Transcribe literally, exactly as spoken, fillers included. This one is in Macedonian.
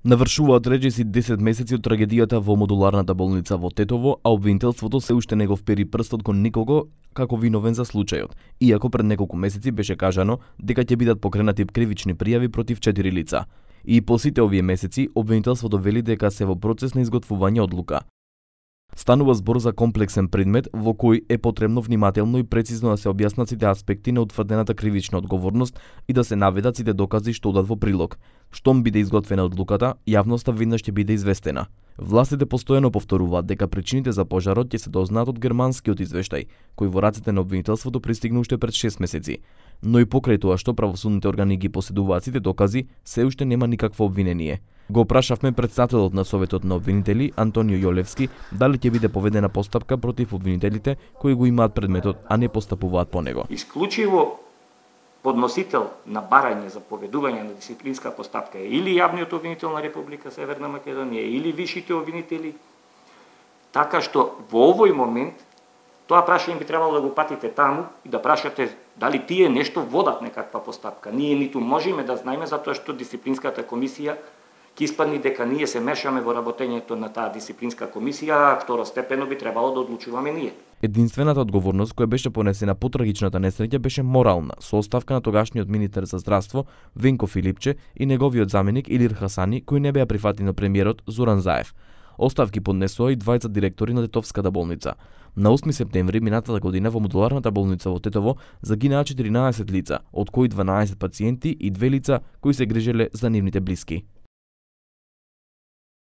Навршуваат речиси десет месеци од трагедијата во модуларната болница во Тетово, а обвинителството се уште не го впери прстот кон никого како виновен за случајот, иако пред неколку месеци беше кажано дека ќе бидат покренати кривични пријави против четири лица. И по сите овие месеци, обвинителството вели дека се во процес на изготвување одлука. Станува збор за комплексен предмет во кој е потребно внимателно и прецизно да се објаснат сите аспекти на утврдената кривична одговорност и да се наведат сите докази што одат во прилог. Штом биде изготвена одлуката, јавноста веднаш ќе биде известена. Властите постојано повторуваат дека причините за пожарот ќе се дознаат од германскиот извештај, кој во рацете на обвинителството пристигна уште пред шест месеци. Но и покрај тоа што правосудните органи ги поседуваат сите докази, се уште нема никакво обвинение. Го прашавме претседателот на Советот на обвинители Антонио Јолевски дали ќе биде поведена постапка против обвинителите кои го имаат предметот, а не постапуваат по него. Исклучиво подносител на барање за поведување на дисциплинска постапка е или јавниот обвинител на Република Северна Македонија или вишите обвинители, така што во овој момент тоа прашање би требало да го патите таму и да прашате дали тие нешто водат некаква постапка. Ние ниту можеме да знаеме затоа што дисциплинската комисија ќе испадни дека ние се мешаме во работењето на таа дисциплинска комисија, а второстепено би требало да одлучуваме ние. Единствената одговорност која беше понесена по трагичната несреќа беше морална, со оставка на тогашниот министер за здравство Венко Филипче и неговиот заменик Илир Хасани, кои не беа прифатени од премиерот Зоран Заев. Оставки поднесоа и двајца директори на Тетовската болница. На осми септември минатата година во модуларната болница во Тетово загинаа четиринаесет лица, од кои дванаесет пациенти и две лица кои се грижеле за нивните блиски.